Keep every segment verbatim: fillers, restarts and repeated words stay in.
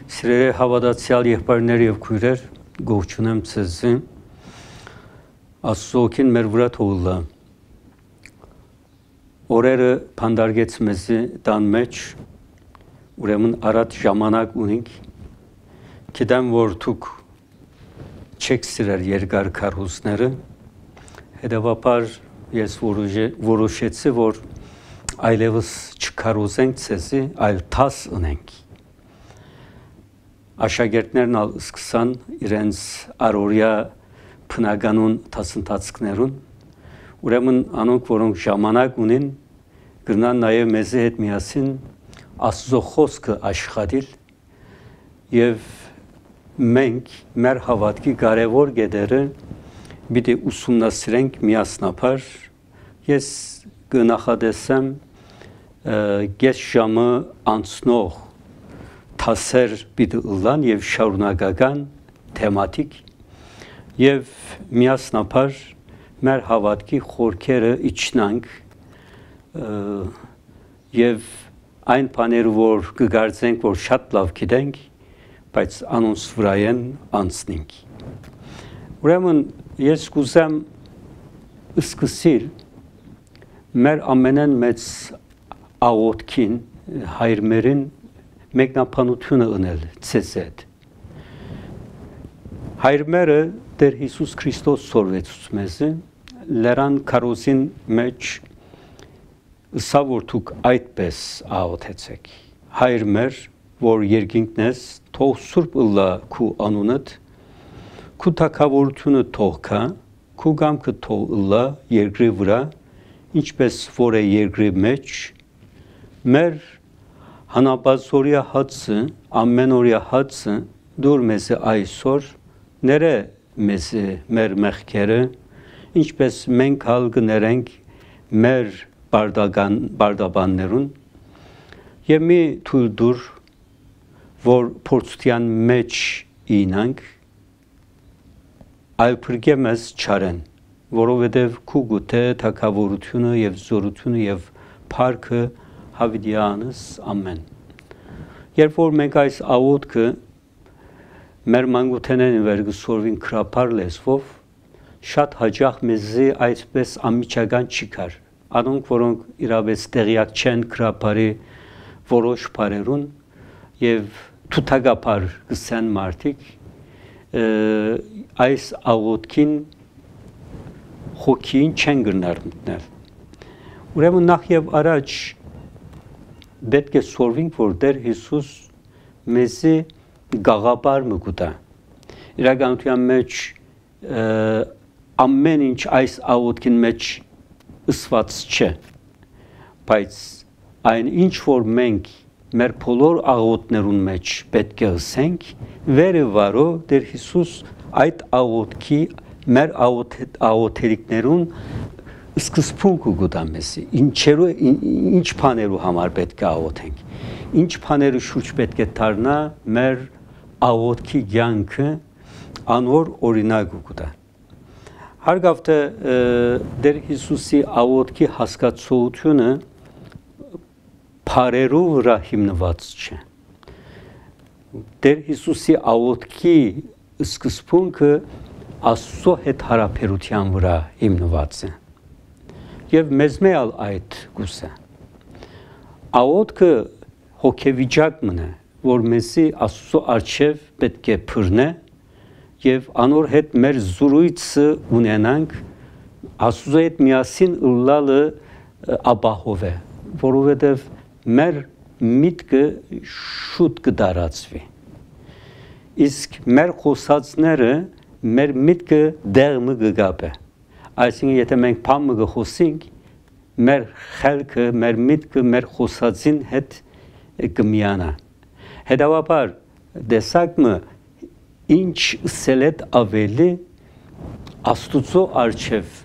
Սիրելի հավատացյալ եղբայրներ եւ քույրեր, գողջունեմ ձեզի։ Աստծոքին մեր վրա թողնա։ Օրերը փանդարգեց մեզի տան մեջ, ուրեմն արատ ժամանակ ունենք։ Գիտեմ, որ դուք չեք սիրել երկար քարոզները, հետևաբար ես որոշեցի, որ այլևս չքարոզենք ձեզի, այլ թաս ունենք։ Աշակերտներն ալ սկսան իրենց առօրյա բնականոն դասընթացներուն, ուրեմն անոնք, որոնք ժամանակ ունեն, կգնան նաև մեզի հետ միասին Աստծո խոսքը աշխատել եւ մենք մեր հավատքի կարևոր գեդերը պիտի ուսումնասիրենք միասնաբար։ Ես կնախադեսեմ գես ժամը անցնող թասեր պիտի ըլլան եւ շարունակական թեմատիկ եւ միասնաբար մեր հավատքի խորքերը իջնանք եւ այն բաները, որ կգարձենք, որ շատ լավ գիտենք, բայց անոնց վրայեն անցնենք։ Ուրեմն ես կուզեմ սկսել մեր ամենեն մեծ աղոթքին հայրմերին մեկնաբանությունը ունել ցեզ հետ։ Հայրմերը Տեր Հիսուս Քրիստոս սորվեցուց մեզի, լերան քարոզին մեջ ըսա որ դուք այդպես աղոթեցեք։ Հայրմեր, որ երկինքն ես, թող սուրբ ըլլա քու անունդ, քու թագավորությունը թող կա, քու կամքը թող ըլլա երկրի վրա, ինչպես որ է երկրի մեջ, մեր հանապազորյա հացը, ամենօրյա հացը դուր մեզ այսօր, ները մեզ մեր մեղքերը, ինչպես մենք հալ կներենք մեր բարդաբաններուն, եւ մի թույլ դուր, որ փորձության մեջ ինանք, այլ փրկե մեզ չարեն, որովհետև քու գութե թագավորությունը եւ զորությունը եւ փառքը հավիտյանս ամեն։ Երբ որ մենք այս աղոթքը մեր մանկութենեն վերգսորվին քրապար լեզվով, շատ հաճախ մեզի այսպես ամիջական չի կար։ Անոնք, որոնք իրավեց տեղյակ չեն քրապարի որոշ բառերուն եւ թութակապար գսեն մարդիկ, այս աղոթքին հոգին չեն գնար մտնել։ Ուրեմն նախ եւ առաջ պետք է սորվենք, որ Տեր Հիսուս մեզի գաղափար մգուտա։ Իրականության մեջ ամեն ինչ այս աղոթքին մեջ ըսված չէ, բայց այն ինչ որ մենք մեր բոլոր աղոթներուն մեջ պետք է ասենք, վերը վարո Տեր Հիսուս այդ աղոթքի մեր աղոթերիկներուն սկզբունք գուտա մեզի, ինչերու ինչ բաներու համար պետք է աղոթենք, ինչ բաներու շուրջ պետք է դառնա մեր աղոթքի կյանքը անոր օրինակ գուտա։ Հարգավտ Տեր Հիսուսի աղոթքի հասկացությունը բառերու վրա հիմնված չէ։ Տեր Հիսուսի աղոթքի սկզբունքը Աստծո հետ հարաբերության վրա հիմնված է։ Եվ մեզ մեալ այդ գուսը։ Աղոթքը հոգեվիճակ մնա, որ մեզի Աստծո առջև պետք է փռնե եւ անոր հետ մեր զրույցը ունենանք, Աստծո հետ միասին ըլլալը ապահով է, որովհետեւ մեր միտքը շուտ կդարածվի։ Իսկ մեր խոսածները մեր միտքը դեղը կգապե։ Այսինքն, եթե մենք բամը գխոսենք, մեր խելքը, մեր միտքը, մեր խոսածին հետ կմիանա։ Հետևաբար, դեսակը ինչ սելետ ավելի Աստուծո առջև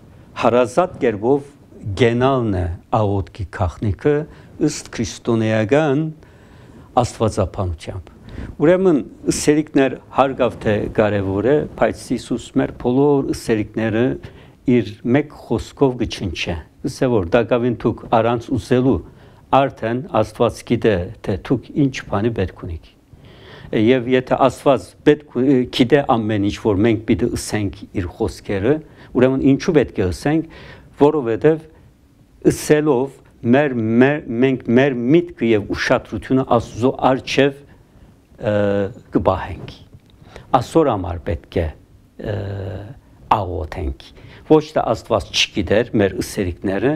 հարազատ կերպով գենալն է աղոթքի քաղաքնիկը ըստ քրիստոնեական աստվածապանությամբ։ Ուրեմն սերիկներ հարգավ թե կարևոր է, բայց Հիսուս մեր բոլոր սերիկները իր մեկ խոսքով գչնչե։ Ըսե որ դակավին թուք առանց ուզելու արդեն Աստված գիտե թե թուք ինչ բանի պետք ունիք։ եւ եթե Աստված պետք գիտե ամեն ինչ, որ մենք պիտի ըսենք իր խոսքերը, ուրեմն ինչու պետք է ըսենք, որովհետեւ ըսելով մեր մենք մեր միտքը եւ ուշադրությունը Աստծո արչեւ կբահենք։ Աստծո համար պետք է աղոթենք։ Ոչ թե Աստված չգիտեր մեր ըսելիքները,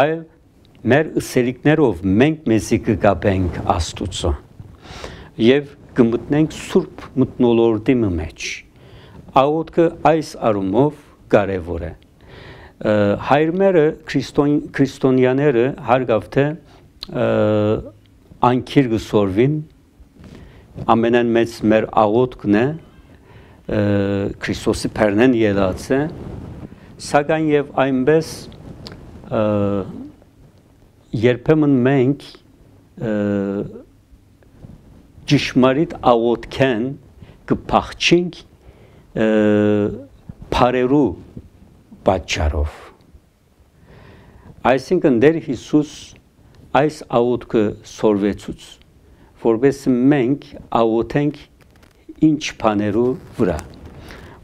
այլ մեր ըսելիքներով մենք մեզի կգաբենք Աստծո եւ կմտնենք սուրբ մթնոլորտի մեջ։ Աղոթքը այս առումով կարեւոր է։ Հայրմերը քրիստոնյաները հարգավ թե անքիր գսորվին ամենան մեծ մեր աղոթքն է Քրիստոսի փեռնեն ելած է, սակայն եւ այնպես երբեմն մենք ճշմարիտ աղոթքեն կփախչենք բարերու պատճառով։ Այսինքն Տեր Հիսուս այս աղոթքը սորվեցուց, որովհետեւ մենք աղոթենք ինչ բաներու վրա։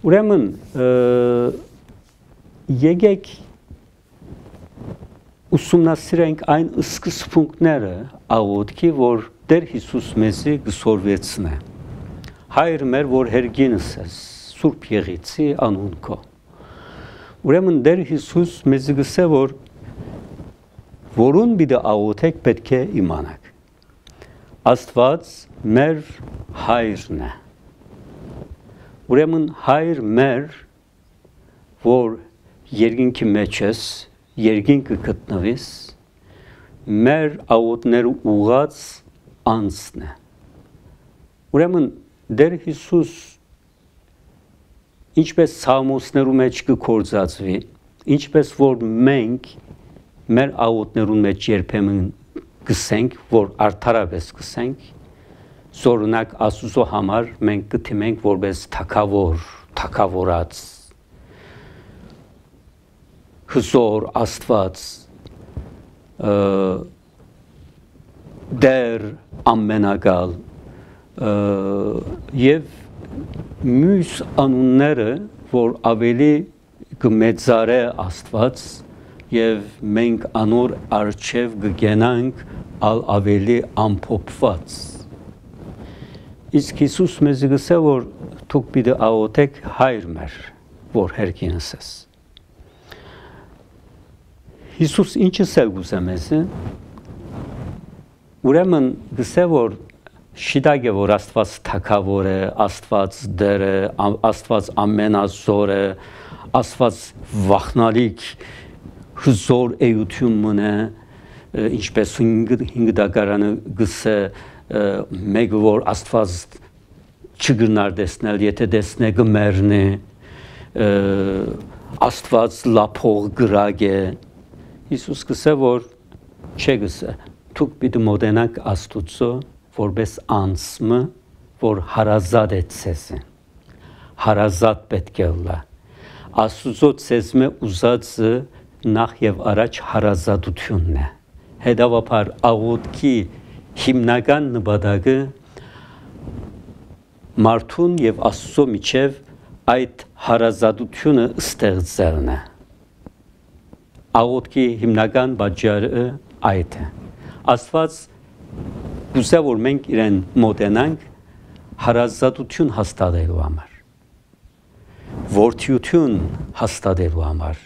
Ուրեմն եկեք ուսումնասիրենք այն սկզբունքները աղոթքի, որ Տեր Հիսուս մեզի գսորվեցնե։ Հայր մեր, որ հերգինս ես, Սուրբ Եղիցի անուն քո։ Ուրեմն Տեր Հիսուս մեզի գսե, որ որուն պիտի աղոթեք պետք է իմանաք։ Աստված մեր հայրն է։ Ուրեմն հայր մեր, որ երկինքի մեջ ես, երկինքը գտնվիս, մեր աղոթները ուղած անցն է։ Ուրեմն Տեր Հիսուս ինչպես Սաղմոսներու մեջ կգործածվի, ինչպես որ մենք մեր աղոթներուն մեջ երբեմն գսենք, որ արդարապես գսենք, զորունակ Աստծո համար մենք կթիմենք որպես թագավոր, թագավորած, հզոր Աստված, Դեր ամենակալ եւ մյուս անունները, որ ավելի կմեծարե Աստված եւ մենք անոր արչեւ կգենանք ալ ավելի ամփոփված։ Իսկ Հիսուս մեզ գսե, որ դուք պիտի աղոթեք հայր մեր, որ հերկինս ես։ Հիսուս ինչը սել գուզե մեզը, ուրեմն գսե, որ շիտակ է, որ Աստված թագավոր է, Աստված դեր է, Աստված ամենազոր է, Աստված վախնալիք հզոր էություն մնե, ինչպես հինգ դագարանը գսե, մեկ որ Աստված չգրնար դեսնել, եթե դեսնե գմերնի, Աստված լափող գրագ է։ Հիսուս գսե, որ չէ գսե, դուք պիտի մոտենաք Աստուծո, որպես անձը, որ հարազատ է ցեզը, հարազատ պետք է լա։ Աստուծո ցեզմե ուզածը նախ եւ առաջ հարազատությունն է։ Հետևաբար աղոթքի հիմնական նպատակը մարդուն եւ Աստծո միջև այդ հարազատությունը ստեղծելն է։ Աղոթքի հիմնական բաժարը այդ է։ Աստված գուցե որ մենք իրեն մոտենանք հարազատություն հաստատելու համար, որդիություն հաստատելու համար,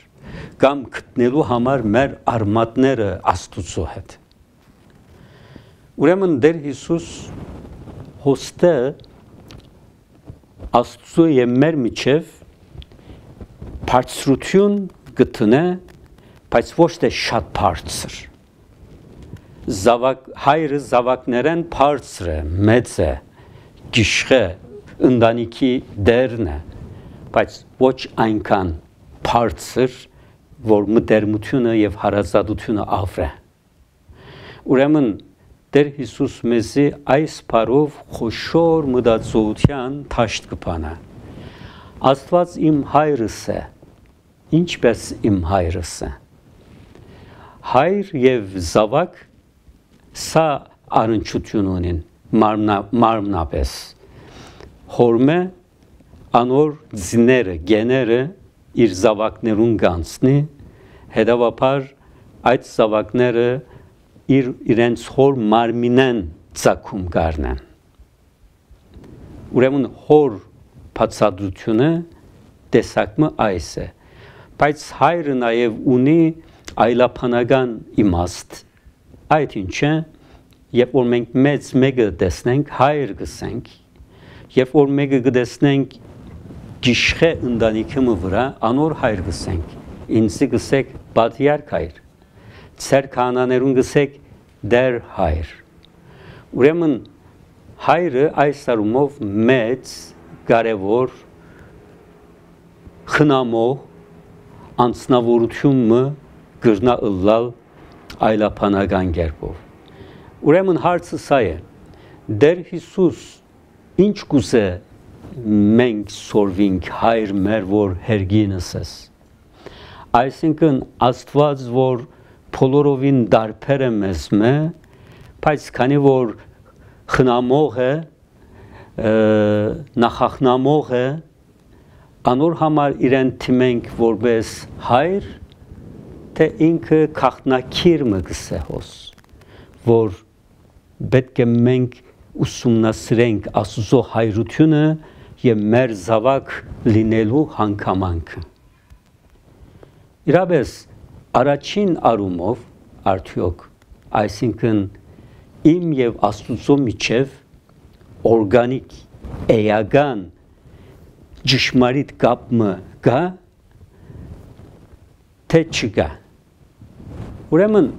կամ գտնելու համար մեր արմատները Աստծո հետ։ Ուրեմն Տեր Հիսուս հոստը Աստծո եւ մեր միջև բարձրություն գտնե, բայց ոչ թե շատ բարձր։ Զավակ հայրը զավակներեն բարձր է, մեծ է, գիշխ է, ընտանիքի դերն է, բայց ոչ այնքան բարձր, որ մտերմությունը եւ հարազատությունը ավրե։ Ուրեմն Տեր Հիսուս մեզի այս բարով խոշոր մտածողության թաշտ կփանա։ Աստված իմ հայրս է, ինչպես իմ հայրս է։ Հայր եւ զավակ սա առնչություն ունեն, մարմնապես հորմը անոր զիները գեները իր զավակներուն գանցնի հետևաբար այդ զավակները իր իրենց հոր մարմինեն ցակում գարնեն ուրեմն հոր բացատրությունը տեսակը այս է բայց հայրը նաև ունի այլաբանական իմաստ այդ ինչը երբ որ մենք մեծ մեկը տեսնենք հայր գսենք երբ որ մեկը գտեսնենք գիշխե ընտանիքի վրա անոր հայր գսենք ինձ գսեք պատիարք հայր ծեր կանաներուն գսեք դեր հայր ուրեմն հայրը այս առումով մեծ կարևոր խնամող անձնավորությունը գրնա ըլլալ այլաբանական կերպով ուրեմն հարցը սա է Դեր Հիսուս ինչ կուզե մենք սորվինք հայր մեր որ հերգինս ես այսինքն Աստված որ բոլորովին դարբեր է մեզ մե բայց քանի որ խնամող է նախախնամող է անոր համար իրեն թիմենք որպես հայր թե ինքը քաղաքնակիր մգսե հոս որ պետք է մենք ուսումնասիրենք Աստծո հայրությունը եւ մեր զավակ լինելու հանգամանքը իրապես առաջին առումով արդյոք այսինքն իմ եւ Աստծո միջև օրգանիկ էական ճշմարիտ կապը կա թե չկա ուրեմն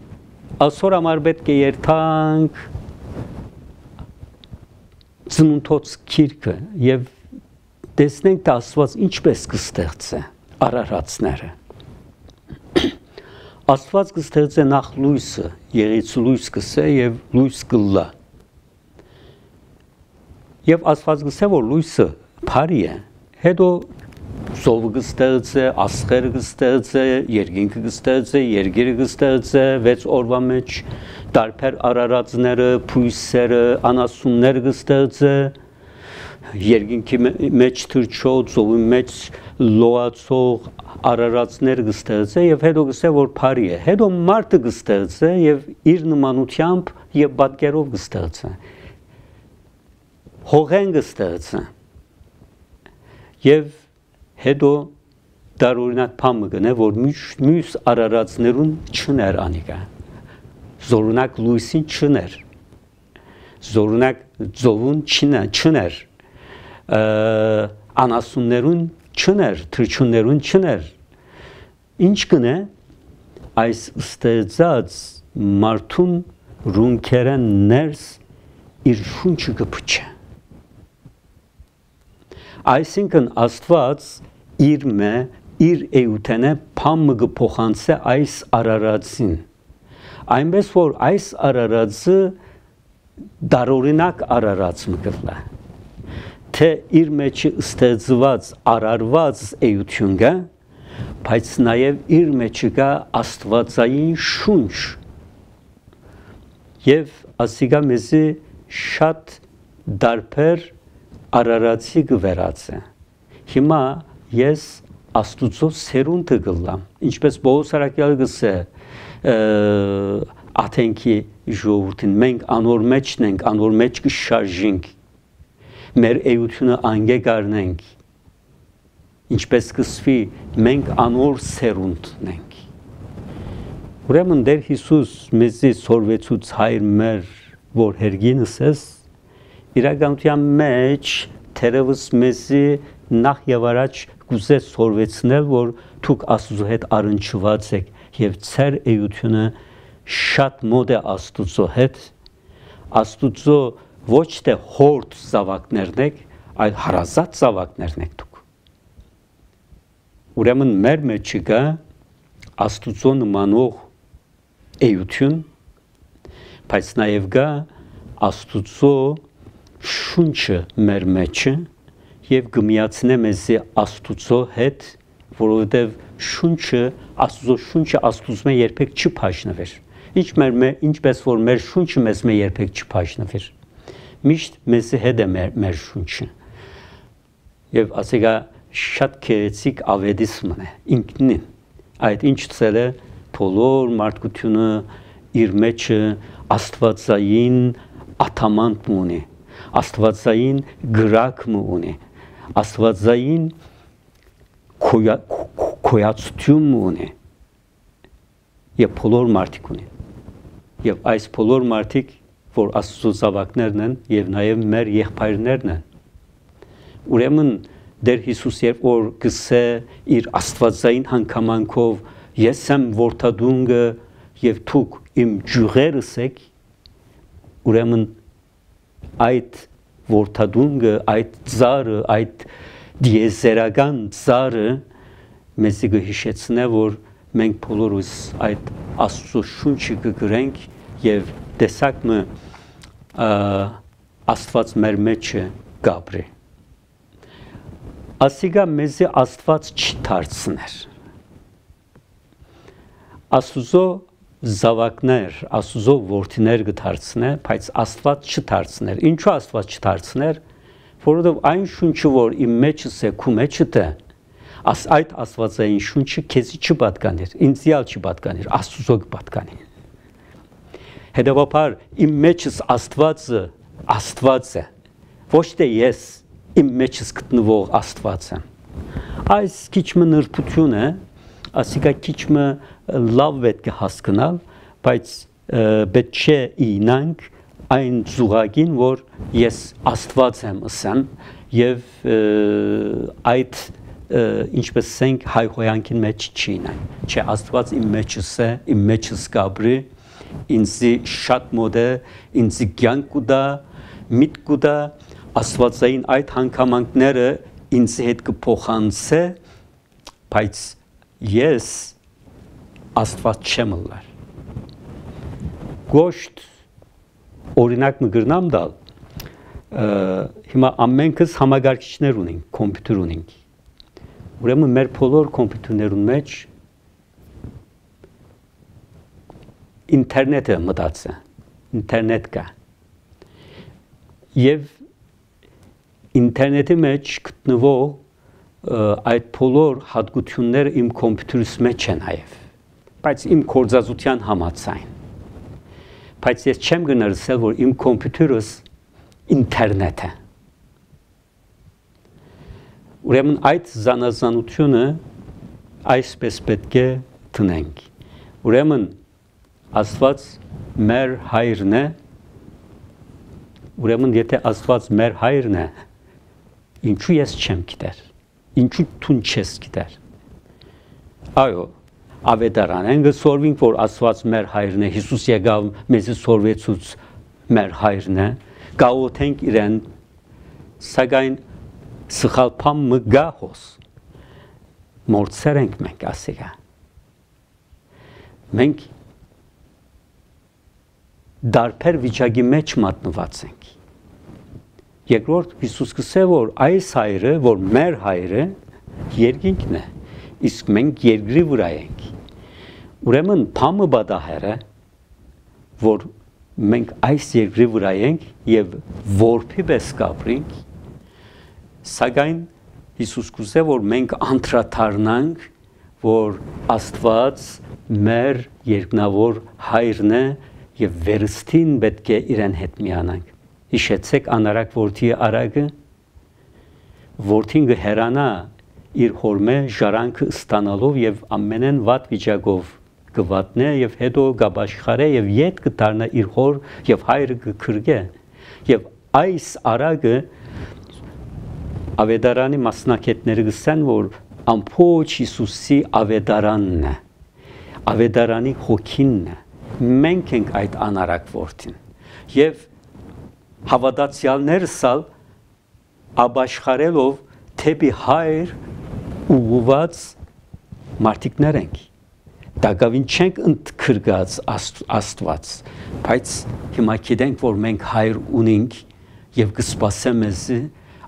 այսօր համար պետք է երթանք ծնունդոց քիրքը եւ տեսնենք թե Աստված ինչպես կստեղծե արարածները Աստված կստեղծե նախ լույսը եղից լույս կսե եւ լույս կլա եւ Աստված կսե որ լույսը բարի է հետո սովը կստեղծե, աստղերը կստեղծե, երկինքը կստեղծե, երկիրը կստեղծե, վեց օրվա մեջ տարբեր արարածները, փույսերը, անասունները կստեղծե, երկինքի մեջ թրջող, ծովի մեջ լոացող արարածները կստեղծե եւ հետո կսե որ բարի է։ Հետո մարդը կստեղծե եւ իր նմանությամբ եւ պատկերով կստեղծե։ Հողեն կստեղծե եւ հետո դարօրինակ բանը գնե որ մյուս արարածներուն չներ անիկա զորունակ լույսին չներ զորունակ ծովուն չներ անասուններուն չներ թրջուններուն չներ ինչ կնե այս ստեղծած մարդուն ռունքերեն ներս իր շունչը կփչե այսինքն Աստված իր մե իր էութենը փամը կփոխանցե այս արարածին այնպես որ այս արարածը դարօրինակ արարած մկլա թե իր մեջ ստեղծված արարված էություն կա բայց նաև իր մեջ կա աստվածային շունչ եւ ասիգա մեզի շատ դարբեր արարածի գվերացը հիմա ես աստուծո սերունդը գլամ ինչպես Պողոս Արաքյալը գսե աթենքի ժողովրդին մենք անոր մեջն ենք անոր մեջ կշարժենք մեր էությունը անգե գարնենք ինչպես կսվի մենք անոր սերունդն ենք ուրեմն Տեր Հիսուս մեզի սորվեցուց հայր մեր որ հերգինս ես իրականության մեջ թերևս մեզի նախ եւ առաջ կուզե սորվեցնել որ դուք Աստծո հետ առնչված եք եւ ծեր էությունը շատ մոտ է Աստծո հետ Աստծո ոչ թե հորդ զավակներն եք այլ հարազատ զավակներն եք դուք ուրեմն մեր մեջ կա Աստծո նմանող էություն բայց նաեւ կա Աստծո շունչը մեր մեջը եւ գմիացնե մեզի Աստծո հետ որովհետեւ շունչը Աստծո շունչը Աստծո մեջ երբեք չփաշնվեր ինչ մեր ինչպես որ մեր շունչը մեզ մեջ երբեք չփաշնվեր միշտ մեզի հետ է մեր, մեր շունչը։ Եվ ասիկա շատ քերեցիկ ավետիսմն է ինքնին։ Այդ ինչ ցել է բոլոր մարդկությունը իր մեջը աստվածային աթամանտ ունի, աստվածային գրակ ունի, աստվածային քոյացություն ունի եւ բոլոր մարդիկ ունի եւ այս բոլոր մարդիկ որ Աստծո զավակներն են եւ նաեւ մեր եղբայրներն են ուրեմն Դեր Հիսուս երբ որ գսե իր աստվածային հանգամանքով ես եմ որդադունգը եւ դուք իմ ջուղերս եք ուրեմն այդ որդադունգը այդ ծառը այդ դիեզերական ծառը մեզ կհիշեցնե որ մենք բոլորս այդ Աստծո շունչը կգրենք եւ տեսակ մը Աստված մեր մեջը գաբրի ասիգա մեզի Աստված չդարձներ Աստուծո զավակներ Աստուծո որդիներ կդարձնե բայց Աստված չդարձներ ինչու Աստված չդարձներ որովհետեւ այն շունչը որ իմ մեջս է քու մեջդ է Աս այդ աստվածային շունչը քեզի չպատկաներ, ինձիալ չպատկաներ, Աստծո կպատկանի։ Հետևաբար իմ մեջս Աստվածը Աստված է, ոչ թե ես իմ մեջս գտնվող Աստված եմ։ Այս քիչ մը նրբություն է, ասիկա քիչ մը լավ պետք է հասկանալ, բայց պետք չէ ինանք այն զուգակին, որ ես Աստված եմ ասեմ եւ այդ ինչպես ասենք հայհոյանքին մեջ չի նայ չէ Աստված իմ մեջս է իմ մեջս գաբրի ինձի շատ մոտ է ինձի կյանք ուտա միտք ուտա Աստվածային այդ հանգամանքները ինձ հետ կփոխանցե բայց ես Աստված չեմ լար գոշտ օրինակ մը գրնամ դալ հիմա ամենքս համագարկիչներ ունենք կոմպյուտեր ունենք Ուրեմն մեր բոլոր կոմպյուտերներուն մեջ ինտերնետը մտած է, ինտերնետ կա։ Եվ ինտերնետի մեջ գտնվող այդ բոլոր հատկությունները իմ կոմպյուտերիս մեջ են նաև, բայց իմ կորձազության համաձայն։ Բայց ես չեմ գնացել, որ իմ կոմպյուտերս ինտերնետ է։ Ուրեմն այդ զանազանությունը այսպես պետք է տնենք։ Ուրեմն Աստված մեր հայրն է, ուրեմն եթե Աստված մեր հայրն է, ինչու ես չեմ գիտեր, ինչու դու չես գիտեր։ Այո, ավետարան են գսորվինք, որ Աստված մեր հայրն է, Հիսուս եկավ մեզ սորվեցուց մեր հայրն է, գաղութենք իրեն, սակայն Սխալփամ մը գահոս մորցեր ենք մենք ասիկա մենք դարբեր վիճակի մեջ մատնված ենք երկրորդ Հիսուս կսե որ այս հայրը որ մեր հայրը երկինքն է իսկ մենք երկրի վրա ենք ուրեմն փամը բադահերը որ մենք այս երկրի վրա ենք եւ որփի պես կապրենք Սակայն Հիսուս կուզե որ մենք անդրադառնանք որ Աստված մեր երկնավոր հայրն է եւ վերստին պետք է իրեն հետ միանանք հիշեցեք անարակ որդի արագը որդին գհերանա իր հորմե ժարանքը ստանալով եւ ամենեն վատ վիճակով կվատնե եւ հետո գաբաշխարե եւ յետ կդառնա իր հոր եւ հայրը կքրգե եւ այս արագը Ավետարանի մասնակիցները գսեն որ ամփոփ Հիսուսի ավետարանն է ավետարանի հոգինն է մենք ենք այդ անարակ որդին եւ հավատացյալներսալ աբաշխարելով թեպի հայր ուղված մարդիկներ ենք դակավին չենք ընդգրկած Աստված բայց հիմա գիտենք որ մենք հայր ունենք եւ կսպասեմ մեզ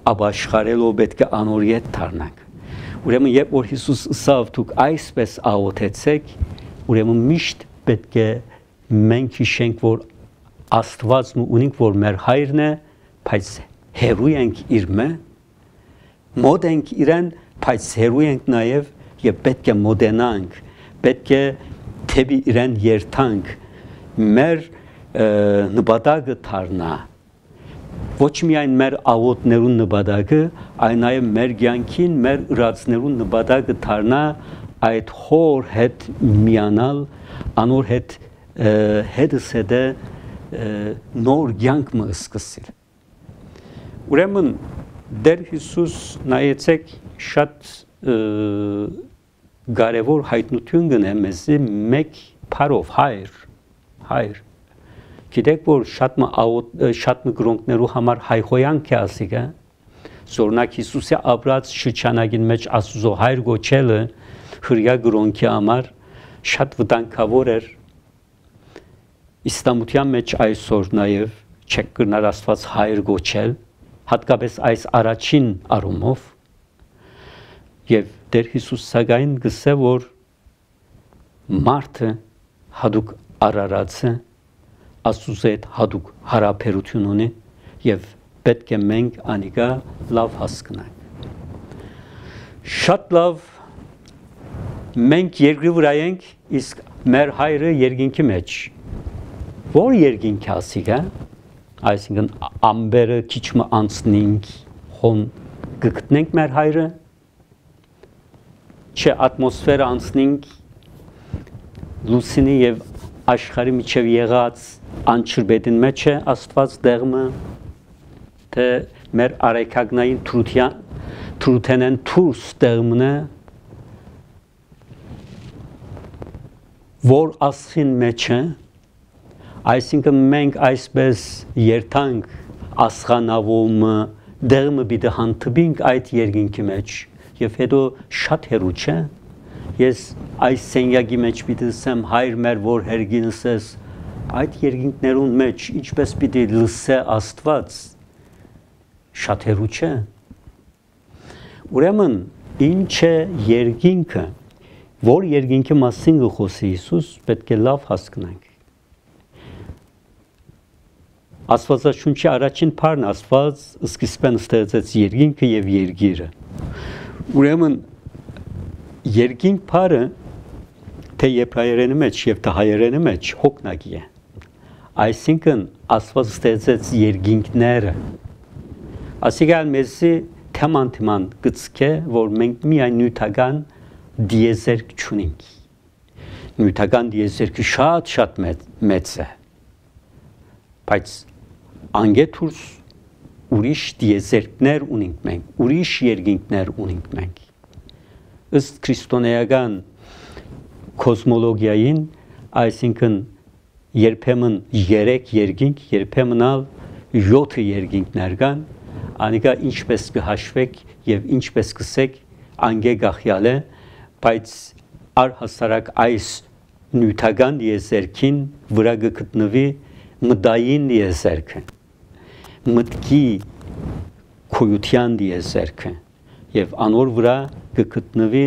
աբաշխարելով պետք է անօրյետ դառնանք ուրեմն երբ որ Հիսուս ասավ դուք այսպես աղոթեցեք ուրեմն միշտ պետք է մենք հիշենք որ Աստվածն ունենք որ մեր հայրն է բայց հերույ ենք իր մե, մոտ ենք իրեն, բայց հերույ ենք նաև եւ պետք է մոդենանք, պետք է թեպի իրեն երթանք, մեր նպատակը դառնա ոչ միայն մեր աղոթներուն նպատակը, այլ նաև մեր կյանքին, մեր ուրացներուն նպատակը դառնա այդ հոր հետ միանալ, անոր հետ հետս հետը նոր կյանք մը սկսել։ Ուրեմն Տեր Հիսուս նայեցեք շատ կարևոր հայտնություն գնե մեզի մեկ փարով հայր, հայր։ Գիտեք, որ շատ մը շատ մը գրոնքներու համար հայխոյանք է ասիկա, զորնակ Հիսուսի ապրած շրջանագին մեջ Աստուծո հայր գոչելը հրյա գրոնքի համար շատ վտանգավոր էր։ Իսլամության մեջ այսօր նաև չեք կրնար Աստված հայր գոչել, հատկապես այս առաջին առումով, եւ Տեր Հիսուս սակայն գսե, որ մարդը հadouk արարածը Աստուծո հետ հadouk հարաբերություն ունի եւ պետք է մենք անիկա լավ հասկանանք։ Շատ լավ մենք երկրի վրա ենք, իսկ մեր հայրը երկինքի մեջ։ Որ երկինք ասիկա, այսինքն ամբերը քիչ մը անցնենք, հոն գտնենք մեր հայրը, չէ ատմոսֆերա անցնենք, լուսինի եւ աշխարհի միջև եղած անչրբետին մեջ է Աստված դեղմը, թե մեր արեքագնային թրության թրութենեն թուրս դեղմն է, որ ասխին մեջ է, այսինքն մենք այսպես երթանք ասխանավոմը դեղմը բիդը հանդբինք այդ երկինքի մեջ եւ հետո շատ հերու չէ, ես այս սենյակի մեջ պիտի ասեմ հայր մեր որ հերգինս ես այդ երկինքներուն մեջ ինչպես պիտի լսե Աստված շատ հերու չէ։ Ուրեմն ինչ է երկինքը, որ երկինքի մասին գխոսի Հիսուս պետք է լավ հասկանանք։ Աստվածաշունչի առաջին բառն Աստված սկիզբեն ստեղծեց երկինքը եւ երկիրը։ Ուրեմն երկինք բառը թե եբրայերենի մեջ եւ թե հայերենի մեջ հոգնակի է։ Այսինքն Աստված ստեղծեց երկինքները։ Ասիկալ մեզի թեմանտման գծկե, որ մենք միայն նյութական դիեզերք չունենք։ Նյութական դիեզերքը շատ շատ մեծ է։ Բայց անգեթուրս ուրիշ դիեզերքներ ունենք մենք, ուրիշ երկինքներ ունենք մենք։ Ըստ քրիստոնեական կոսմոլոգիային, այսինքն երբեմն երեք երկինք, երբեմն ալ յոթ երկինքներ կան, անիկա ինչպես կհաշվեք եւ ինչպես կսեք անգե գախյալ է, բայց առհասարակ այս նյութական դիեզերքին վրա գտնվի մտային դիեզերքը, մտքի քույության դիեզերքը եւ անոր վրա գտնվի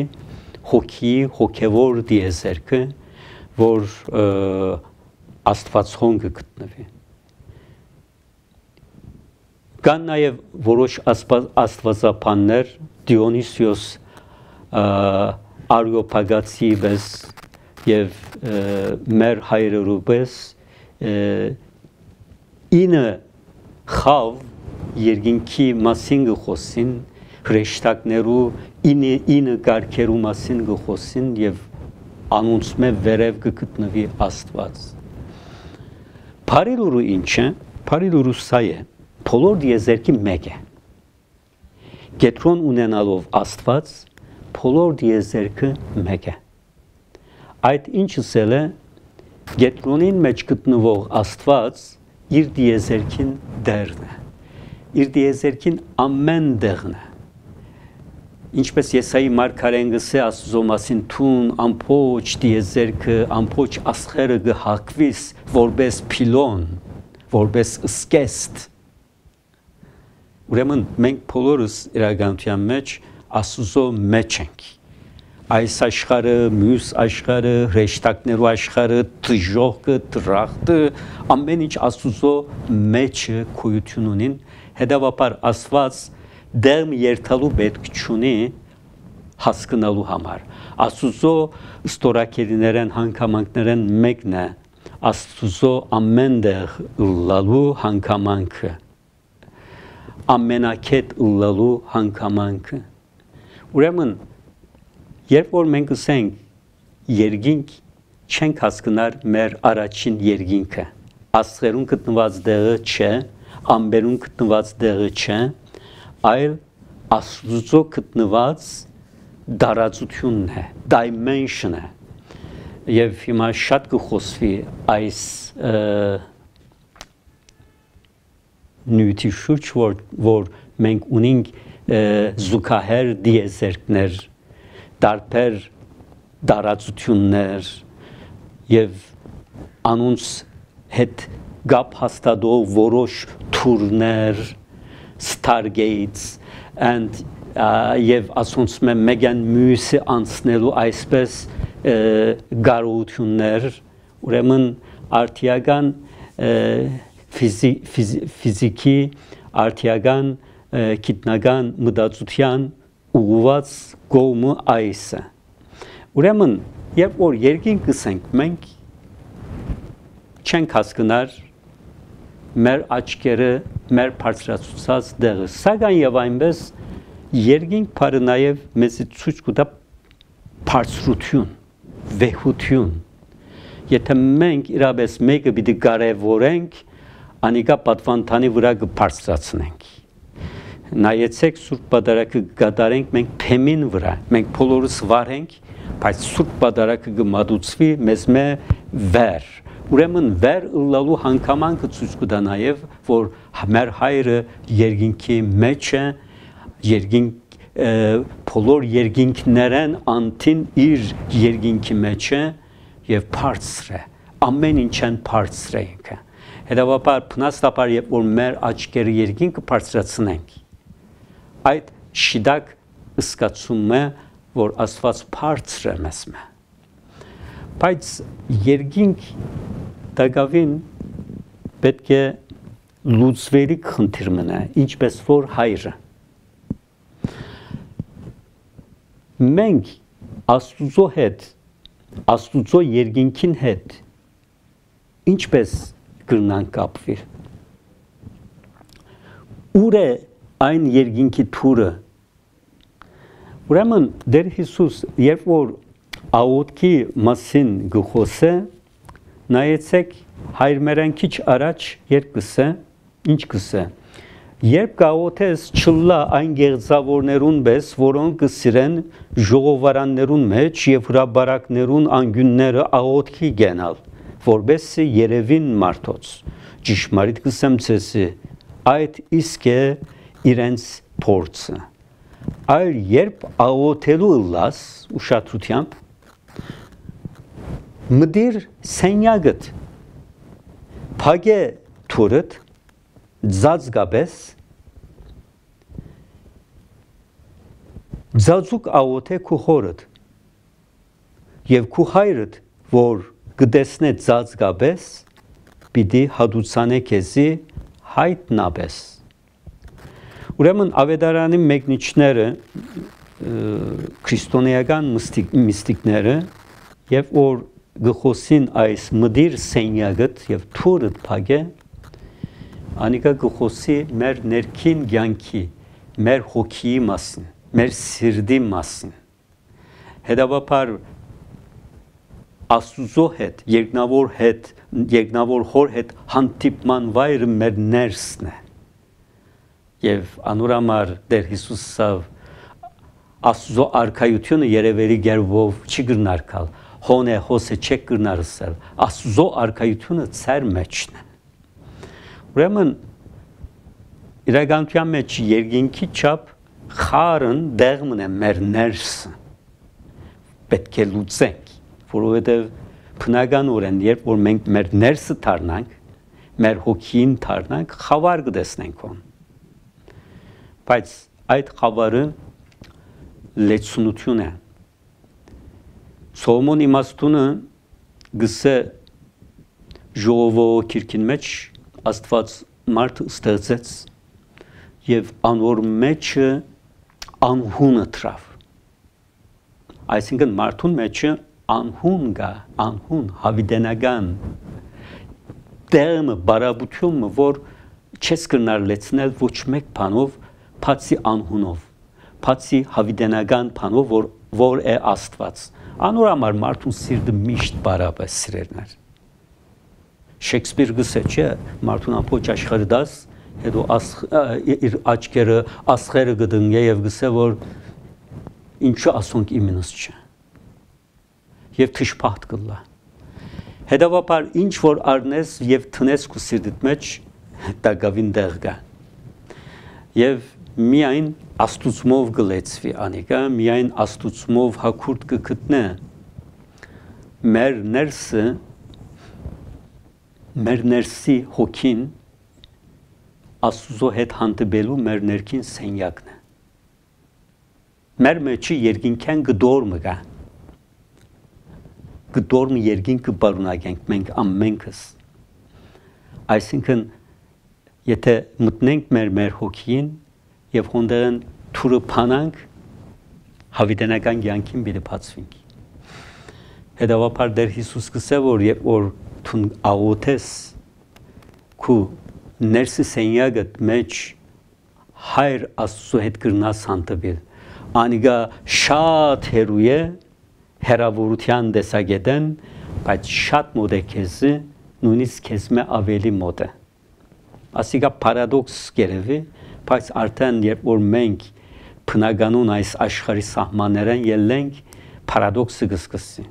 հոգի հոգեվոր դիեզերքը, որ Աստվածոն գտնվի։ Կան նաև որոշ աստվածապաններ, Դիոնիսիոս Արեոպագացի պես եւ մեր հայրերու պես ինը խավ երկինքի մասին գխոսին, հրեշտակներու ինը ինը կարգերու մասին գխոսին եւ անոնցմե վերև գտնվի Աստված։ Փարիլուրը ինչ է, փարիլուրը սա է, բոլոր դիեզերքի մեկ է։ Գետրոն ունենալով Աստված, բոլոր դիեզերքը մեկ է։ Այդ ինչսել է, գետրոնին մեջ գտնվող Աստված իր դիեզերքին դերն է, իր դիեզերքին ամեն դեղն է։ Ինչպես Եսայի մարգարեն գսե Աստծո մասին թուն ամփոչ դիեզերքը, ամփոչ աստղերը գհակվիս որպես փիլոն, որպես սկեստ։ Ուրեմն մենք բոլորս իրականության մեջ Աստծո մեջ ենք։ այս աշխարհը, մյուս աշխարհը, հրեշտակներու աշխարհը, դժողքը, դրախտը, ամեն ինչ Աստուծո մեջ գոյություն ունին, հետևաբար Աստված դեմ երթալու պետք չունի հասկանալու համար։ Աստուծո ստորակերիներեն հանգամանքներեն մեկն է Աստուծո ամենտեղ լալու հանգամանքը, ամենակետ լալու հանգամանքը։ Ուրեմն երբ որ մենք ասենք երկինք, չենք հասկնար մեր առաջին երկինքը, աստղերուն գտնված դեղը չէ, ամբերուն գտնված դեղը չէ, այլ Աստուծո գտնված դարածությունն է, dimension է։ Եվ հիմա շատ կխոսվի այս նյութի շուրջ, որ, որ մենք ունենք զուգահեռ դիեզերքներ, տարբեր դարածություններ եւ անոնց հետ գապ հաստատող որոշ թուրներ, stargates and եւ ասոնց մեկան մյուսը անցնելու այսպես գարողություններ, ուրեմն արտիական ֆիզիկի, արտիական գիտնական մտածության ուղղված կողմը այս է։ Ուրեմն երբ որ երկինք գսենք, մենք չենք հասկնար մեր աչքերը, մեր բարձրացուցած դեղը, սակայն եւ այնպես երկինք բարը նաեւ մեզ ցույց կտա բարձրություն, վեհություն։ Եթե մենք իրապես մեկը պիտի կարևորենք, անիկա պատվանդանի վրա կբարձրացնենք։ Նայեցեք Սուրբ Պատարագը կատարենք մենք փեմին վրա, մենք բոլորս վարենք, բայց Սուրբ Պատարագը կմատուցվի մեզ մե վեր։ Ուրեմն վեր ըլլալու հանգամանքը ցույց կտա նաև, որ մեր հայրը երկինքի մեջ է, երկինք բոլոր երկինքներեն անտին իր երկինքի մեջ է եւ բարձր է, ամեն ինչն բարձր է ինքը։ Հետևաբար փնաստաբար երբ որ մեր աչքերը երկինքը բարձրացնենք, այդ շիդակ ըսկացում է, որ Աստված բարձր է մեզ մե։ Բայց երկինք դակավին պետք է լուծվելի խնդիր մնա, ինչպես որ հայրը։ Մենք Աստուծո հետ, Աստուծո երկինքին հետ ինչպես կրնանք կապվել։ Ուր է այն երկինքի թուրը։ Ուրեմն Տեր Հիսուս երբ որ աղոթքի մասին գխոսե, նայեցեք հայր մերան քիչ առաջ երբ գսե, ինչ գսե։ Երբ կաղոթես չլա այն գեղձավորներուն պես, որոնք կսիրեն ժողովարաններուն մեջ եւ հրաբարակներուն անգյունները աղոթքի գենալ, որբեսի երևին մարդոց։ Ճիշմարիտ կսեմ ցեսի, այդ իսկ է իրենց փորձը։ Այլ երբ աղոթելու լաս ուշադրությամբ մդիր սենյագդ փագե թուրդ ձածգաբես ձածուկ աղոթե քու խորդ եւ քու հայրդ որ գտեսնե ձածգաբես պիտի հադուցանե քեզի հայտնաբես։ Ուրեմն ավետարանի մեկնիչները քրիստոնեական միստիկները եւ որ գխոսին այս մդիր սենյագդ եւ թուրդ փագե անիկա գխոսի մեր ներքին կյանքի, մեր հոգիի մասին, մեր սիրտի մասին։ Հետևաբար Աստուծո հետ, երկնավոր հետ, երկնավոր հոր հետ հանդիպման վայրը մեր ներսն է։ Եվ անուրամար Տեր Հիսուսը Աստուծո արքայությունը երևելի գերբով չի գրնարկալ, հոն է հոսը չեք գրնարսել, Աստուծո արքայությունը ծեր մեջն է։ Ուրեմն իրականության մեջ երկինքի չափ խարն դեղմն է մեր ներսը, պետք է լուծենք, որովհետև բնականորեն երբ որ մենք մեր ներսը դառնանք, մեր հոգին դառնանք, խավար կտեսնենք ոն։ Բայց այդ խավարը լեցունություն է, Սողոմոն իմաստունը գսե ժողովո քիրքին մեջ Աստված մարդ ստեղծեց եւ անոր մեջը անհունը трав այսինքն մարդուն մեջը անհուն գա անհուն հավիդենական դերմը բարաբությունը որ չես կրնար լեցնել ոչ մեկ բանով բացի անհունով բացի հավիդենական բանով որ որ է Աստված անոր համար մարդուն սիրտը միշտ բարապ է սիրելներ Շեքսպիր գսե չէ մարդուն ամբողջ աշխարհը դաս հետո իր աչքերը ասխերը գտնե եւ գսե որ ինչու ասոնք իմենս չէ եւ թշփախտ կլա հետեւաբար ինչ որ արնես եւ տնես քու սիրտիդ մեջ դա գավին դեղ գա եւ միայն աստուծմով գլեցվի անիկա միայն աստուծմով հակուրտ կգտնե մեր ներսը մեր ներսի հոգին աստուծո հետ հանդիպելու մեր ներքին սենյակն է մեր մեջի երկինքան գդորմը գա գդորմը երկինքը բարունագենք մենք ամենքս այսինքն եթե մտնենք մեր մեր հոգին եւ հոնդերն թուրը փանանք հավիտենական կյանքին բիդը բացվենք հետեւաբար դեր Հիսուս գսե որ երբ որ թուն աղոթես քու ներսի սենյակդ մեջ հայր Աստծո հետ կրնաս հանդիպել անիգա շատ հերու է հերավորության դեսագետեն բայց շատ մոտ է քեզ նույնիսկ քեզ մե ավելի մոտ է ասիկա պարադոքս կերևի բայց արդեն երբ որ մենք բնականon այս աշխարհի սահմաններեն ելենք պարադոքսը կսկսի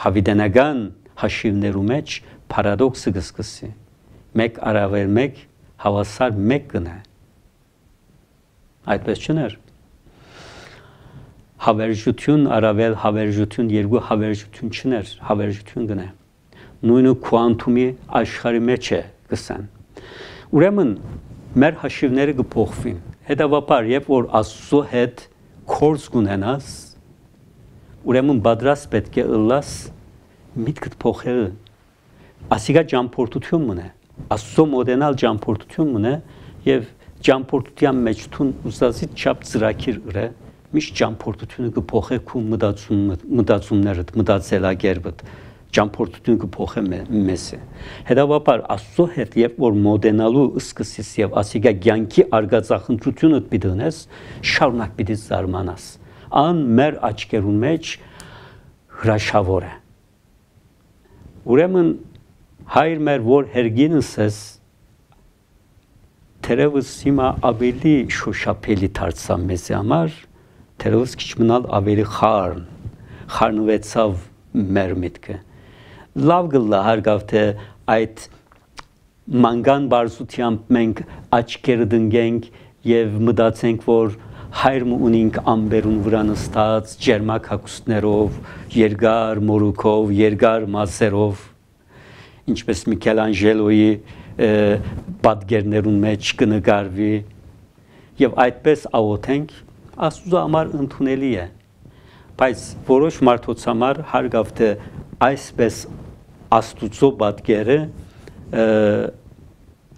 հավիտենական հաշիվներու մեջ պարադոքսը կսկսի մեկ արավեր մեկ հավասար մեկ կնա այդպես չներ հավերժություն արավել հավերժություն երկու հավերժություն չներ հավերժություն կնա նույնը քվանտումի աշխարհի մեջ է կսան ուրեմն մեր հաշիվները կփոխվին հետևաբար երբ որ Աստծո հետ կորս կունենաս ուրեմն պատրաստ պետք է ըլլաս միտքդ փոխել ասիկա ճամփորդություն մնա Աստծո մոդենալ ճամփորդություն մնա եւ ճամփորդության մեջ թուն ուզածի չափ ծրակիր ըրը միշտ ճամփորդությունը կփոխե քու մտածում մտածումներդ մտածելակերպդ ճամփորդությունը կփոխե մեզ հետևաբար Աստծո հետ երբ որ մոդենալու սկսես եւ ասիկա ցանկի արգածախնդրությունը պիտենես շարունակ պիտի զարմանաս ան մեր աչքերու մեջ հրաշավոր է ուրեմն հայր մեր որ հերգինս ես թերևս հիմա ավելի շոշափելի դարձա մեզ համար թերևս քիչ մնալ ավելի խառն խառնվեցավ մեր միտքը լավ գլա հարգավ թե այդ մանգան բարզությամբ մենք աչքերը դնգենք եւ մտածենք որ հայրը ունենք ամբերուն վրա նստած ջերմակ հագուստներով երկար մորուքով երկար մազերով ինչպես Միքելանջելոյի պատկերներուն մեջ կնկարվի եւ այդպես աղոթենք Աստծո համար ընդունելի է բայց որոշ մարդոց համար հարգավ թե այսպես Աստուծո պատկերը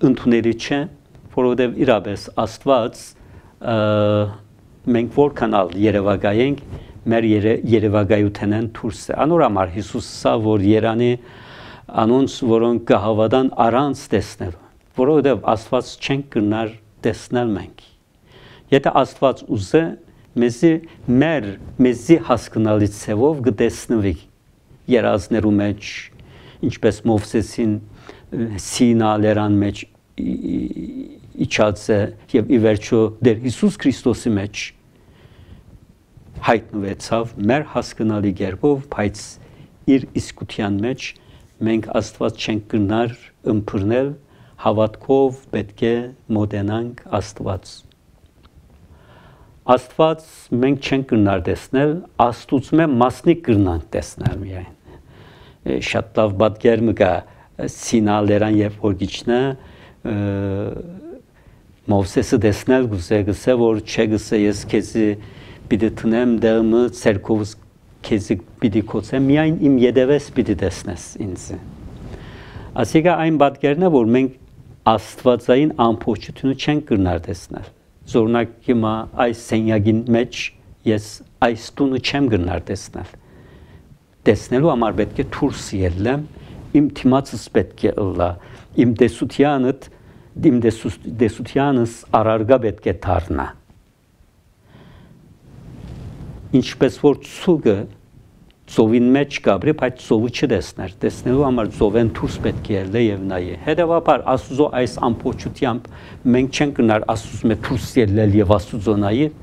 ընդունելի չէ, որովհետև իրապես Աստված մենք որքանալ երևակայենք մեր երևակայութենեն դուրս է։ Անոր համար Հիսուս սա որ Երանի անոնց որոնք կհավատան առանց տեսնել, որովհետև Աստված չենք կրնար տեսնել մենք։ Եթե Աստված ուզե մեզի մեր մեզի հասկանալի ցևով կտեսնվի երազներու մեջ ինչպես Մովսեսին Սինա լերան մեջ իջած է եւ ի վերջո դեր Հիսուս Քրիստոսի մեջ հայտնվեցավ մեր հասկանալի կերպով, բայց իր իսկության մեջ մենք Աստված չենք կրնար ըմբռնել, հավատքով պետք է մոտենանք Աստված։ Աստված մենք չենք կրնար տեսնել, Աստուծմե մասնիկ կրնանք տեսնել միայն։ Շատ լավ պատկեր մը կա Սինա լերան երբ որ գիչնա Մովսեսը տեսնել գուզե գսե որ չէ գսե ես քեզի պիտի տնեմ դերմը ցերկովս քեզի պիտի կոչեմ միայն իմ յետևես պիտի տեսնես ինձ ասիկա այն պատկերն է որ մենք աստվածային ամբողջությունը չենք կրնար տեսնել զորնակ հիմա այս սենյակին մեջ ես այս տունը չեմ կրնար տեսնել տեսնելու համար պետք է դուրս ելնեմ իմ թիմացս պետք է ըլլա իմ տեսությանդ իմ տեսությանս առարգա պետք է դառնա ինչպես որ ցուգը ծովին մեջ գաբրի, բայց ծովը չտեսներ, տեսնելու համար ծովեն դուրս պետք է ելնե եւ նայե։ Հետևաբար Աստուծո այս ամբողջությամբ մենք չենք գնար Աստուծո մեջ դուրս ելնել եւ Աստուծո նայել,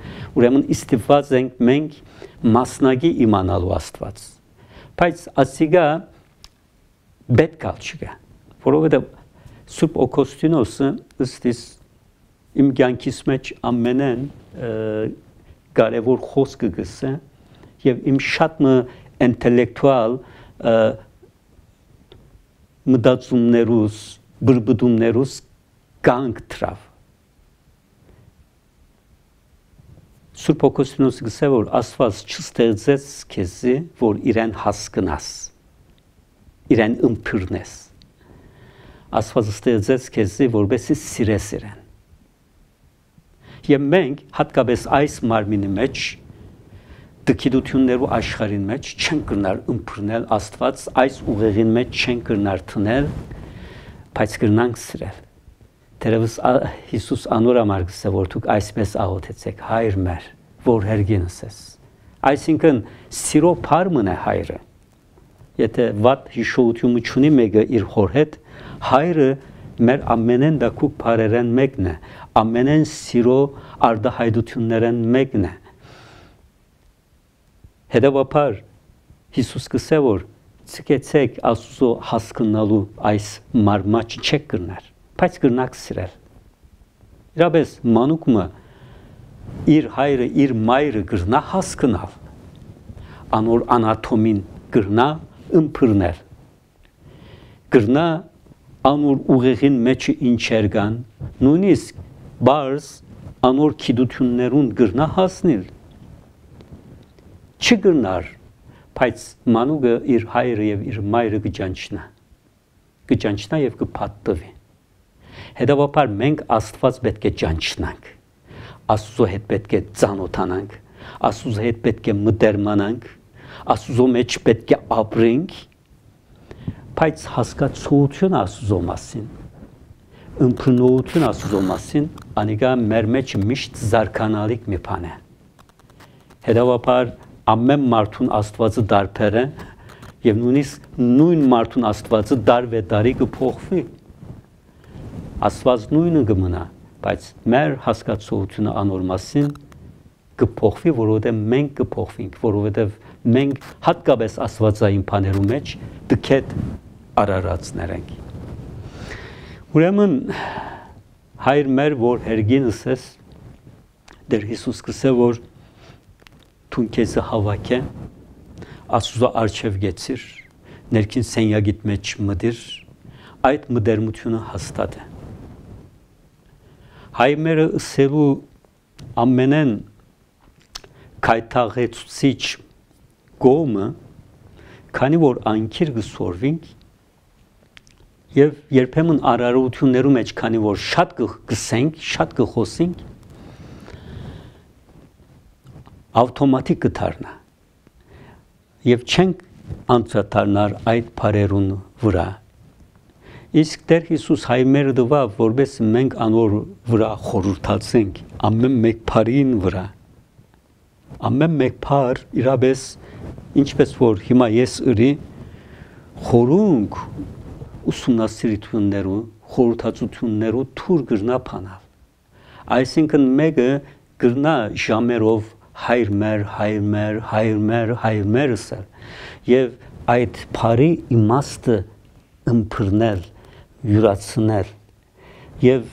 ուրեմն իստիված ենք մենք մասնագի իմանալու Աստված։ Բայց ասիգա պետք է չգա, որովհետեւ Սուրբ Օգոստինոսը ըստիս իմ կյանքիս մեջ ամենեն կարևոր խոսքը գսե եւ իմ շատ մը ինտելեկտուալ մտածումներուս բրբդումներուս կանգ թրավ Սուրբ Օգոստինոսը գսե որ Աստված չստեղծեց քեզի որ իրեն հասկնաս իրեն ըմբռնես Աստված ստեղծեց քեզի որպեսզի սիրես իրեն եւ մենք հատկապես այս մարմինի մեջ դքիդություններու աշխարհին մեջ չեն կրնար ըմբռնել Աստված այս ուղեղին մեջ չեն կրնար թնել բայց կրնանք սիրել Տերևս Հիսուս անոր համար գսե որ դուք այսպես աղոթեցեք հայր մեր որ հերգինս ես այսինքն սիրո փարմն է հայրը եթե վատ հիշողությունը չունի մեկը իր հոր հետ հայրը մեր ամենեն դակուկ բարերեն մեկն է ամենեն սիրո արդահայտություններեն մեկն է Հետևաբար Հիսուս կսե որ ցկեցեք Աստծո հասկանալու այս մարմաճ չեք կրնար բայց կրնակ սիրել Իրապես մանուկը իր հայրը իր մայրը կրնա հասկանալ անոր անատոմին կրնա ըմբռնել կրնա անոր ուղեղին մեջը ինչեր կան նույնիսկ բարձ անոր քիդություններուն կրնա հասնել չգնար բայց մանուկը իր հայրը եւ իր մայրը կճանչնա կճանչնա եւ կփաթտվի հետեւաբար մենք Աստված պետք է ճանչնանք Աստծո հետ պետք է ծանոթանանք Աստծո հետ պետք է մտերմանանք Աստծո մեջ պետք է ապրենք բայց հասկացողություն Աստծո մասին ըմբռնողություն Աստծո մասին անիկա մեր մեջ միշտ զարգանալիք մի բան է հետեւաբար ամեն մարդուն Աստվածը դարբեր է եւ նույնիսկ նույն մարդուն Աստվածը դարվե դարի կփոխվի Աստված նույնը կմնա բայց մեր հասկացողությունը անոր մասին կփոխվի որովհետեւ մենք կփոխվենք որովհետեւ մենք հատկապես Աստվածային բաներու մեջ դքետ արարածներ ենք ուրեմն հայր մեր որ հերգինս ես դեր Հիսուս կսե որ Թուն քեզը հավաք է, Աստուծո արչև գեցիր, ներքին սենյակիդ մեջ մտիր, այդ մտերմությունը հաստատ է։ Հայմերը ըսելու ամենեն քայթաղեցուցիչ կողմը, քանի որ անքիր կսորվինք, եւ երբեմն արարողություններու մեջ, քանի որ շատ կգսենք, շատ կխոսենք, ավտոմատիկ կդառնա եւ չենք անդրադառնար այդ բարերուն վրա իսկ Տեր Հիսուս հայմերը դվավ որպես մենք անոր վրա խորհրդացենք ամեն մեկ բարին վրա ամեն մեկ բար իրապես ինչպես որ հիմա ես ըրի խորունք ուսումնասիրություններու խորհրդածություններու թուր գրնա փանալ այսինքն մեկը գրնա ժամերով հայր մեր, հայր մեր, հայր մեր, հայր մեր ասել եւ այդ բարի իմաստը ըմբռնել, յուրացնել եւ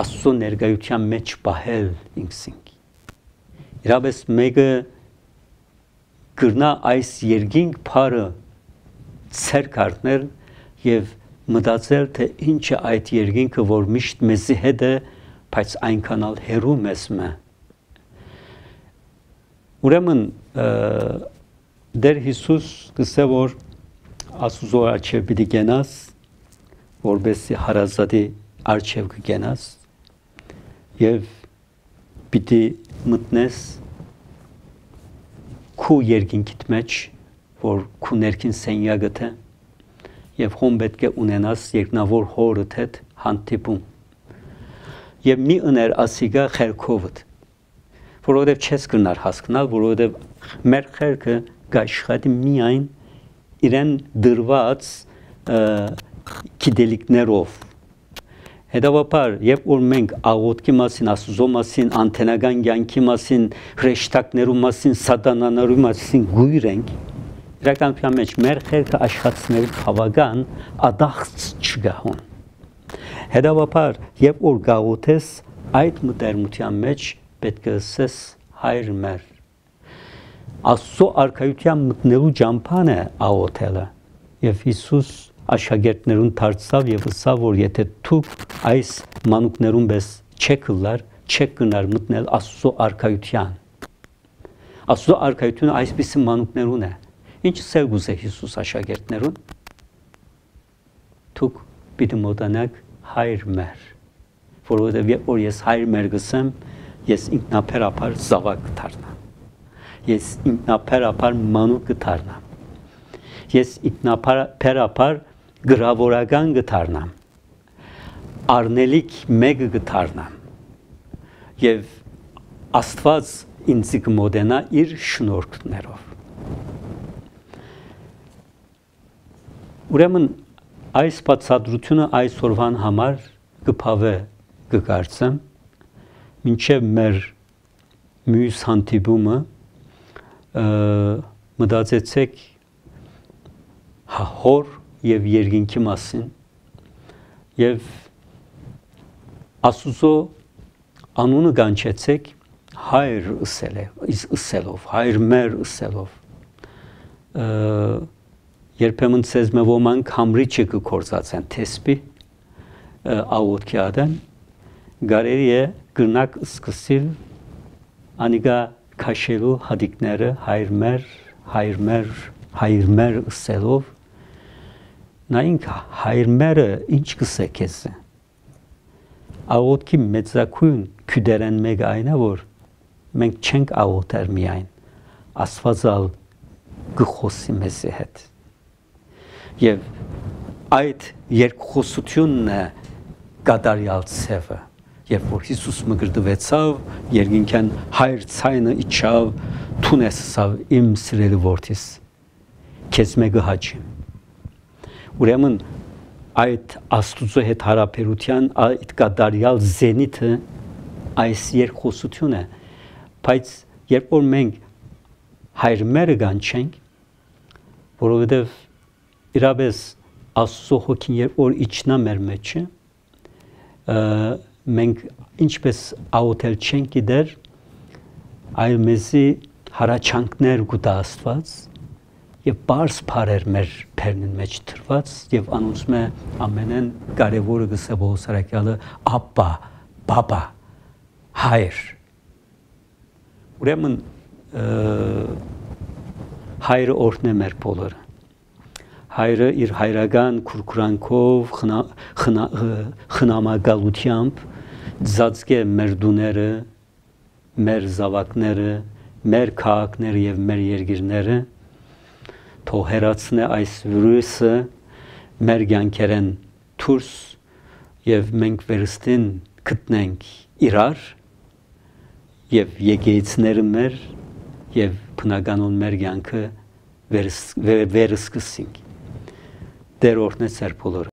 Աստծո ներկայության մեջ պահել ինքսինք իրապես մեկը գրնա այս երկինք բարը ցերկ առնել եւ մտածել թե ինչ է այդ երկինքը որ միշտ մեզի հետ է բայց այնքան ալ հերու մեզ մե Ուրեմն Դեր Հիսուս գսե որ Աստուծո արչև պիտի գնաս, որբեսի հարազատի արչև կգնաս եւ պիտի մտնես քու երկինքիդ մեջ, որ քու ներքին սենյակը թե եւ հոմ պետք է ունենաս երկնավոր հորդ հետ հանդիպում եւ մի ըներ ասիգա խերքովդ որովհետեւ չես կնար հասկանալ որովհետեւ մեր խերքը գաշխատի միայն իրեն դրված գիտելիքներով հետևաբար երբ որ մենք աղոթքի մասին աստուծո մասին անտենական կյանքի մասին հրեշտակներու մասին սատանաներու մասին գույր ենք իրականության մեջ մեր խերքը աշխատցնելու բավական ադախց չգահուն հետևաբար երբ որ գաղութես այդ մտերմության մեջ պետք է ասես հայր մեր Աստծո արքայության մտնելու ճամփան է աղոթելը եւ Հիսուս աշակերտներուն դարձավ եւ ասավ որ եթե դուք այս մանուկներուն պես չեք լար չեք գնար մտնել Աստծո արքայության Աստծո արքայությունը այսպիսի մանուկներուն է ինչ սերգուս է Հիսուս աշակերտներուն դուք պիտի մոտանաք հայր մեր որովհետեւ երբ որ ես հայր մեր գսեմ ես ինքնաբերաբար զավակ կդառնամ ես ինքնաբերաբար մանուկ կդառնամ ես ինքնաբերաբար գրավորական կդառնամ արնելիք մեկը կդառնամ եւ Աստված ինձ կմոտենա իր շնորհքներով Ուրեմն այս բացատրությունը այս օրվան համար կփավե կգարցեմ մինչև մեր մյուս հանդիպումը մտածեցեք հոր եւ երկինքի մասին եւ Աստուծո անունը կանչեցեք հայր ըսելով հայր մեր ըսելով երբեմն ցեզ մե ոմանք համրի չկործածեն թեսպի աղոթքի ադեն գարերի է գրնակ սկսիլ անիգա քաշելու հադիկները հայր մեր հայր մեր հայր մեր ըսելով նայինք հայր մերը ինչ կսե քեզ աղոթքի մեծակույն քյուդերեն մեկ այնա որ մենք չենք աղոթեր միայն Աստվածալ գխոսի մեզի հետ Եվ այդ երկխոսությունն է կատարյալ ցևը երբ որ Հիսուս մգրտվեցավ երկինքան հայր ցայնը իջավ թունեսավ իմ սիրելի որդիս քեզ մեկը հաճի ուրեմն այդ Աստուծո հետ հարաբերության այդ կատարյալ զենիթը այս երկխոսություն է բայց երբ որ մենք հայր մերը կանչենք որովհետև Իրապես Աստծո հոգին երբ որ իջնա մեր մեջը մենք ինչպես աղոթել չենք գիտեր այլ մեզի հարաճանքներ կուտա Աստված եւ բարձ բարեր մեր բերնին մեջ դրված եւ անոնցում է ամենեն կարեւորը գսե Բողոսարակյալը ապա բաբա հայր ուրեմն հայրը օրհն է մեր բոլորը Հայրը իր հայրական քուրքուրանքով խնամակալությամբ ծածկե մեր դուները, մեր զավակները, մեր քաղաքները եւ մեր երկիրները թող հեռացնե այս վիրուսը մեր կյանքերեն դուրս եւ մենք վերստին գտնենք իրար եւ եկեղեցիները մեր եւ բնականon մեր կյանքը վերսկսենք Դեր օրհնե ծեր բոլորը